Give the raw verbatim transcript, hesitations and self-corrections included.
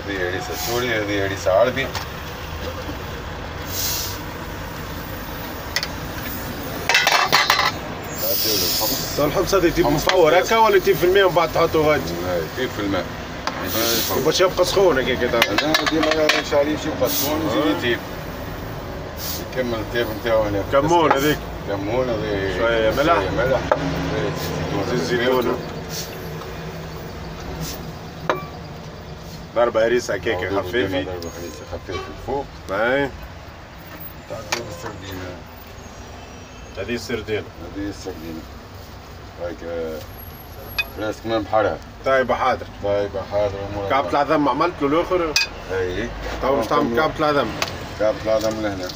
هذه هريسه سوري، هذه هريسه عربي. الحمص هذا يطيب مفور هكا ولا يطيب في الماء ومن بعد تحطه غادي؟ يطيب في الماء باش يبقى سخون هكاك. لا ديما نشعل باش يبقى سخون ويزيد يطيب. يكمل الطيب نتاعو هنا. كمون هذيك. كمون هذه شوية ملح. شوية ملح. زيت زيتون. ضربة هريسة هكاك خفيفة. ضربة هريسة خفيفة الفوق. اي. تعدي السردينة. هذه السردينة. هذه السردينة. هاك فراسك من بحرها. طيبة حاضر. طيبة حاضرة. كعبة العظم عملت له الآخر؟ اي. تو باش تعمل كعبة العظم. كعبة العظم لهنا.